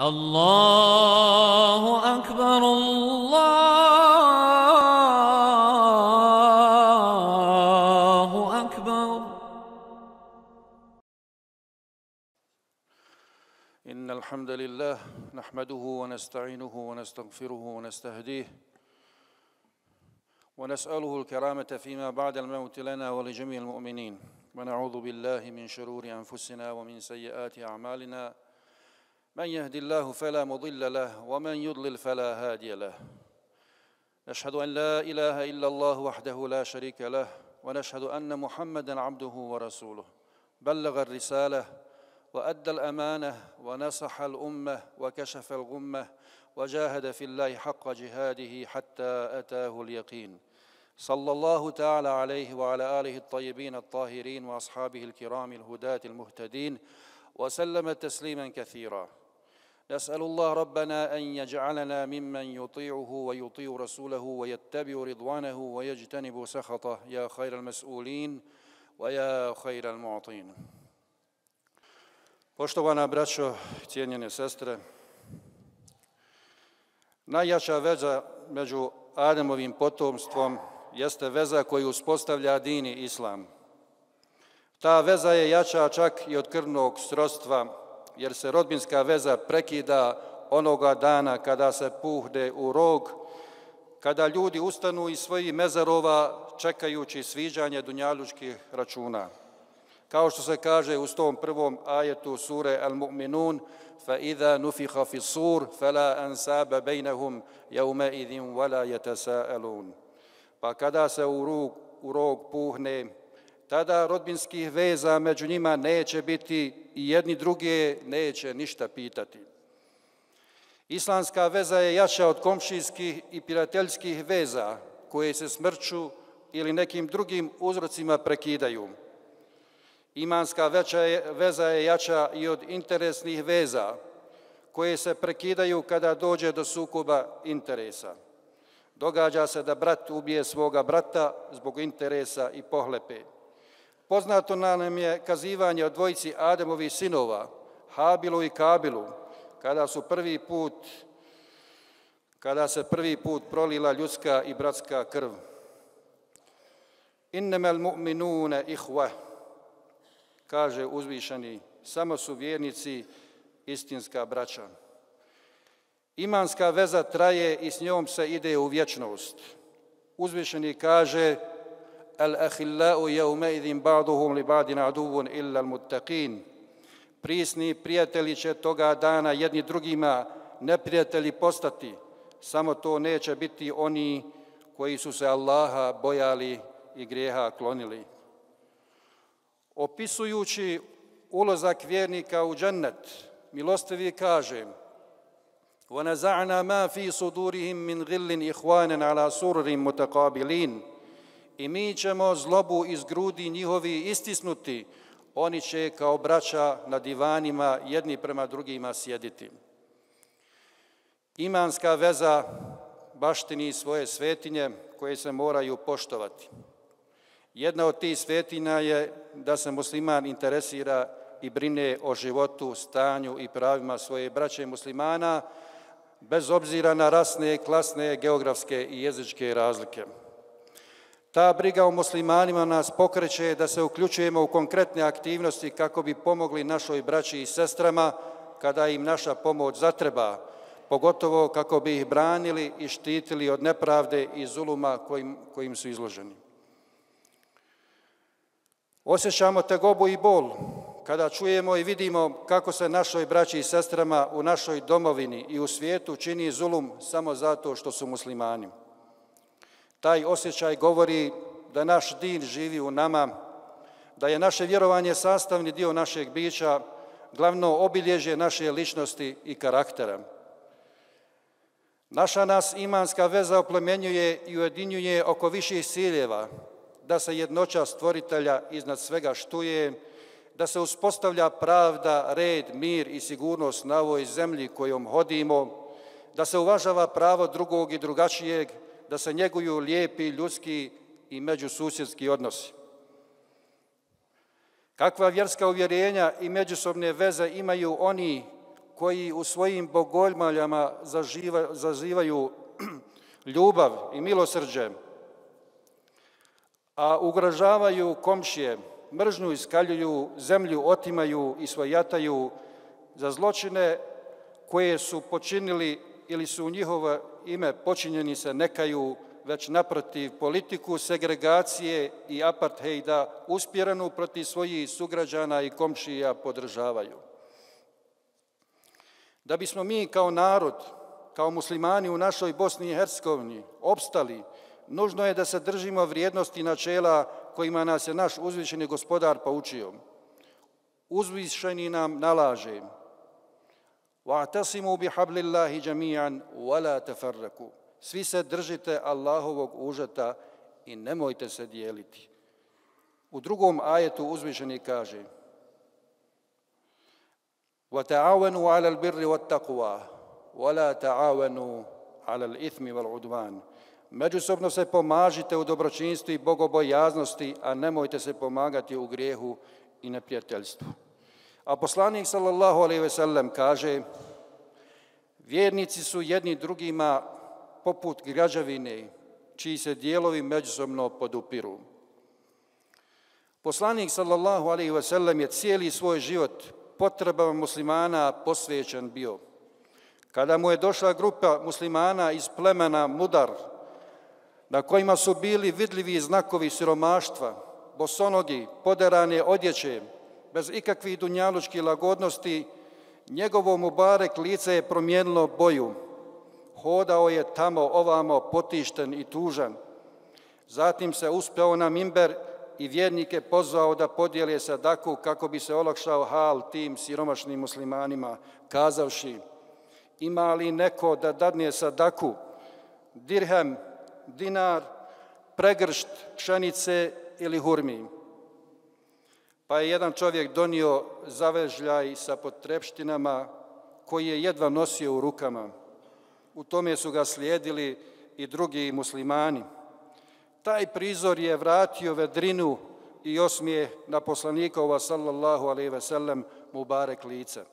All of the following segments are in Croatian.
الله أكبر الله أكبر. إن الحمد لله نحمده ونستعينه ونستغفره ونستهديه ونسأله الكرامة فيما بعد الموت لنا ولجميع المؤمنين، ونعوذ بالله من شرور أنفسنا ومن سيئات أعمالنا، من يهد الله فلا مضل له ومن يضلل فلا هادي له. نشهد أن لا إله إلا الله وحده لا شريك له، ونشهد أن محمدًا عبده ورسوله، بلغ الرسالة وأدى الأمانة ونصح الأمة وكشف الغمة وجاهد في الله حق جهاده حتى أتاه اليقين. صلى الله تعالى عليه وعلى آله الطيبين الطاهرين وأصحابه الكرام الهداة المهتدين وسلم تسليما كثيرا. نسأل الله ربنا أن يجعلنا ممن يطيعه ويطيع رسوله ويتبع رضوانه ويجتنب سخطه، يا خير المسؤولين ويا خير المعطين. Poštovana braćo, cijenjene sestre, najjača veza među Ademovim potomstvom jeste veza koju uspostavlja din i islam. Ta veza je jača čak i od krvnog srodstva, jer se rodbinska veza prekida onoga dana kada se puhne u rog, kada ljudi ustanu iz svojih mezarova čekajući sviđanje dunjalučkih računa. Kao što se kaže u 101. ajetu sure Al-Mu'minun: فَإِذَا نُفِخَ فِي الصُّورِ فَلَا أَنْسَابَ بَيْنَهُمْ يَوْمَئِذٍ وَلَا يَتَسَاءَلُونَ. Pa kada se u rog puhne, tada rodbinskih veza među njima neće biti i jedni druge neće ništa pitati. Islamska veza je jača od komšijskih i prijateljskih veza koje se smrću ili nekim drugim uzrocima prekidaju. Imanska veza je jača i od interesnih veza koje se prekidaju kada dođe do sukoba interesa. Događa se da brat ubije svoga brata zbog interesa i pohlepe. Poznato nam je kazivanje o dvojici Ademovih sinova, Habilu i Kabilu, kada se prvi put prolila ljudska i bratska krv. Innamal mu'minuna ihwa, kaže uzvišeni, samo su vjernici istinska braća. Imanska veza traje i s njom se ide u vječnost. Uzvišeni kaže: Al-ahillau yawma'idhin ba'duhum li ba'din aduvun illa al-muttaqin. Prisni prijatelji će toga dana jedni drugima neprijatelji postati, samo to neće biti oni koji su se Allaha bojali i grijeha klonili. Opisujući ulazak vjernika u džennet, milostivi kaže: وَنَزَعْنَا مَا فِي صُدُورِهِمْ مِنْ غِلٍّ إِخْوَانًا عَلَى سُرُرٍ مُتَقَابِلِينَ. I mi ćemo zlobu iz grudi njihovi istisnuti, oni će kao braća na divanima jedni prema drugima sjediti. Imanska veza baštini svoje svetinje koje se moraju poštovati. Jedna od tih svetinja je da se musliman interesira i brine o životu, stanju i pravima svoje braće muslimana, bez obzira na rasne, klasne, geografske i jezičke razlike. Ta briga o muslimanima nas pokreće da se uključujemo u konkretne aktivnosti kako bi pomogli našoj braći i sestrama kada im naša pomoć zatreba, pogotovo kako bi ih branili i štitili od nepravde i zuluma kojim su izloženi. Osjećamo tegobu i bol kada čujemo i vidimo kako se našoj braći i sestrama u našoj domovini i u svijetu čini zulum samo zato što su muslimani. Taj osjećaj govori da naš din živi u nama, da je naše vjerovanje sastavni dio našeg bića, glavno obilježje naše ličnosti i karaktera. Naša nas imanska veza oplemenjuje i ujedinjuje oko viših ciljeva, da se jednoća stvoritelja iznad svega štuje, da se uspostavlja pravda, red, mir i sigurnost na ovoj zemlji kojom hodimo, da se uvažava pravo drugog i drugačijeg, da se njeguju lijepi ljudski i međususjedski odnosi. Kakva vjerska uvjerenja i međusobne veze imaju oni koji u svojim bogoljuljama zazivaju ljubav i milosrđe, a ugrožavaju komšije, mržnju iskaljuju, zemlju otimaju i svojataju, za zločine koje su počinili ili su u njihovo ime počinjeni se ne kaju, već naprotiv politiku segregacije i aparthejda usmjerenu protiv svojih sugrađana i komšija podržavaju. Da bismo mi kao narod, kao muslimani u našoj Bosni i Hercegovini opstali, nužno je da se držimo vrijednosti i načela kojima nas je naš uzvišeni gospodar poučio. Uzvišeni nam nalaže: وَاعْتَصِمُوا بِحَبْلِ اللَّهِ جَمِيعًا وَلَا تَفَرَّقُوا. Svi se držite Allahovog užeta i nemojte se dijeliti. U drugom ajetu uzvišeni kaže: وَتَعَاوَنُوا عَلَى الْبِرِّ وَالتَّقْوَى وَلَا تَعَاوَنُوا عَلَى الْإِثْمِ وَالْعُدْوَانِ. Međusobno se pomažite u dobročinstvu i bogobojaznosti, a nemojte se pomagati u grijehu i neprijateljstvu. A poslanik sallallahu alejhi ve sellem kaže: vjernici su jedni drugima poput građevine, čiji se dijelovi međusobno podupiru. Poslanik sallallahu alejhi ve sellem je cijeli svoj život potrebama muslimana posvećen bio. Kada mu je došla grupa muslimana iz plemena Mudar, na kojima su bili vidljivi znakovi siromaštva, bosonogi, poderane odjeće, bez ikakvih dunjalučkih lagodnosti, njegovo mubarek lice je promijenilo boju. Hodao je tamo ovamo potišten i tužan. Zatim se uspeo na mimber i vjernike pozvao da podijele sadaku kako bi se olakšao hal tim siromašnim muslimanima, kazavši: ima li neko da dadne sadaku, dirhem, dinar, pregršt pšenice ili hurmi? Pa je jedan čovjek donio zavežljaj sa potrepštinama koji je jedva nosio u rukama. U tome su ga slijedili i drugi muslimani. Taj prizor je vratio vedrinu i osmijeh na poslanikova sallallahu alejhi ve sellem mubarek lice.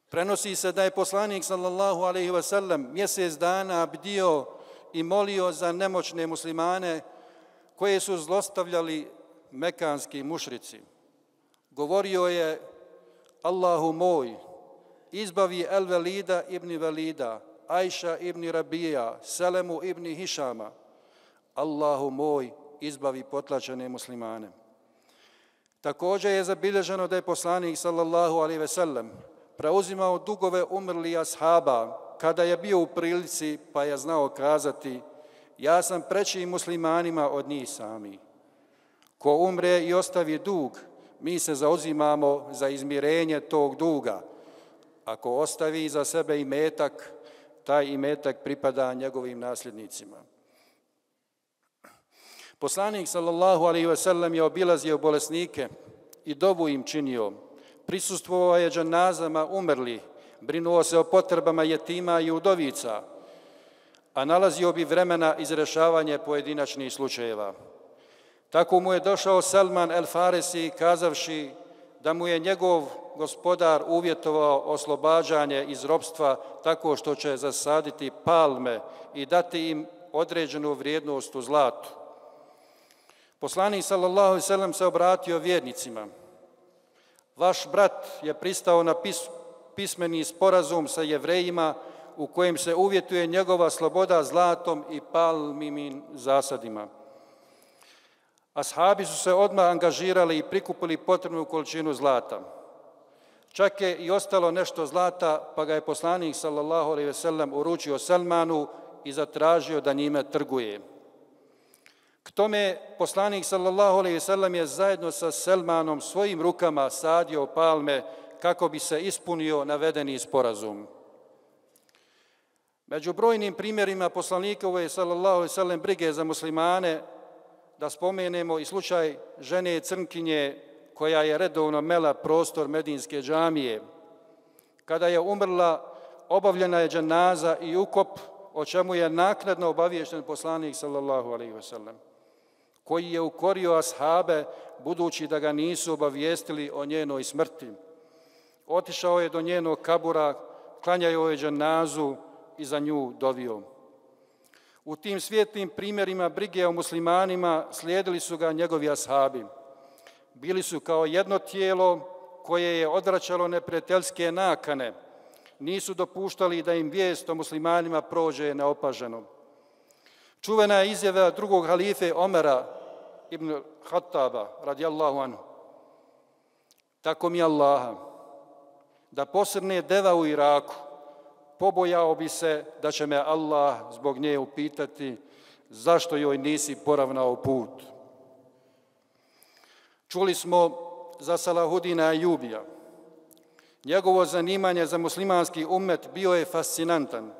Prenosi se da je poslanik sallallahu alejhi ve sellem mjesec dana bdio i molio za nemoćne muslimane koje su zlostavljali mekanski mušrici. Govorio je: Allahu moj, izbavi El-Velida ibn Velida, Ajša ibn Rabija, Selemu ibn Hišama. Allahu moj, izbavi potlačene muslimane. Također je zabilježeno da je poslanik sallallahu alejhi ve sellem preuzimao dugove umrlih ashaba kada je bio u prilici, pa je znao kazati: ja sam preći muslimanima od njih sami. Ko umre i ostavi dug, mi se zauzimamo za izmirenje tog duga. Ako ostavi iza sebe imetak, taj imetak pripada njegovim nasljednicima. Poslanik sallallahu alejhi ve sellem je obilazio bolesnike i dovu im činio. Prisustvovao je dženazama umrlih, brinuo se o potrebama jetima i udovica, a nalazio bi vremena izrešavanje pojedinačnih slučajeva. Tako mu je došao Salman el-Farisi kazavši da mu je njegov gospodar uvjetovao oslobađanje iz ropstva tako što će zasaditi palme i dati im određenu vrijednost u zlatu. Poslanik sallallahu alejhi ve sellem se obratio vjernicima: vaš brat je pristao na pismeni sporazum sa Jevrejima u kojem se uvjetuje njegova sloboda zlatom i palmivim zasadima. Ashabi su se odmah angažirali i prikupili potrebnu količinu zlata. Čak je i ostalo nešto zlata, pa ga je poslanik sallallahu alejhi ve sellem uručio Salmanu i zatražio da njime trguje. K tome poslanik sallallahu alejhi ve sellem je zajedno sa Salmanom svojim rukama sadio palme kako bi se ispunio navedeni sporazum. Među brojnim primjerima poslanikove sallallahu alejhi ve sellem brige za muslimane da spomenemo i slučaj žene crnkinje koja je redovno mela prostor Medinske džamije. Kada je umrla, obavljena je dženaza i ukop, o čemu je naknadno obaviješten poslanik sallallahu alejhi ve sellem, koji je ukorio ashabe budući da ga nisu obavijestili o njenoj smrti. Otišao je do njenog kabura, klanjao je dženazu i za nju dovio. U tim svijetlim primjerima brige o muslimanima slijedili su ga njegovi ashabi. Bili su kao jedno tijelo koje je odvraćalo neprijateljske nakane. Nisu dopuštali da im vijest o muslimanima prođe neopaženo. Čuvena je izjava drugog halife Omera ibn Khattaba, radijallahu anhu. Tako mi Allaha, da posrne deva u Iraku, pobojao bi se da će me Allah zbog nje upitati zašto joj nisi poravnao put. Čuli smo za Salahudina Ejubija. Njegovo zanimanje za muslimanski ummet bio je fascinantan.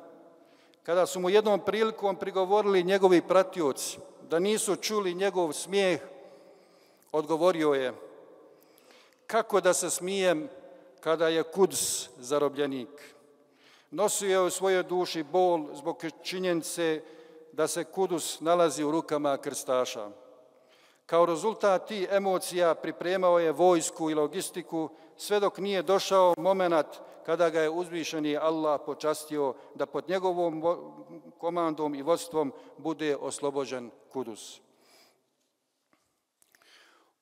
Kada su mu jednom prilikom prigovorili njegovi pratioci da nisu čuli njegov smijeh, odgovorio je: kako da se smijem kada je Kuds zarobljenik? Nosio je u svojoj duši bol zbog činjenice da se Kudus nalazi u rukama krstaša. Kao rezultat tih emocija pripremao je vojsku i logistiku sve dok nije došao momenat kada ga je uzvišeni Allah počastio da pod njegovom komandom i vodstvom bude oslobođen Kudus.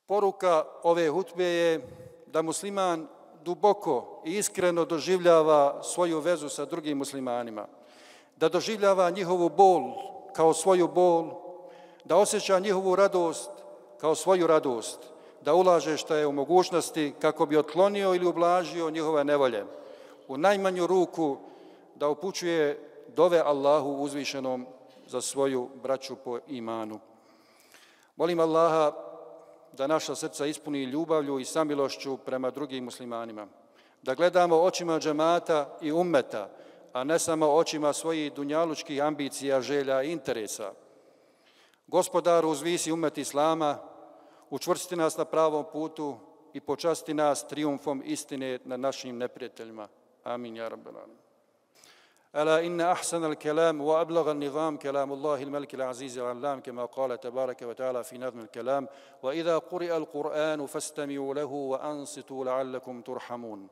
Poruka ove hutbe je da musliman duboko i iskreno doživljava svoju vezu sa drugim muslimanima, da doživljava njihovu bol kao svoju bol, da osjeća njihovu radost kao svoju radost, da ulaže što je u mogućnosti kako bi otklonio ili ublažio njihove nevolje. U najmanju ruku da upućuje dove Allahu uzvišenom za svoju braću po imanu. Molim Allaha da naša srca ispuni ljubavlju i samilošću prema drugim muslimanima, da gledamo očima džemata i ummeta, a ne samo očima svojih dunjalučkih ambicija, želja i interesa. Gospodaru, uzvisi ummet Islama, učvrsti nas na pravom putu i počasti nas trijumfom istine nad našim neprijateljima. Amin, ja rabbal alamin. ألا إن أحسن الكلام وأبلغ النظام كلام الله الملك العزيز العلام كما قال تبارك وتعالى في نظم الكلام وإذا قرئ القرآن فاستمعوا له وأنصتوا لعلكم ترحمون.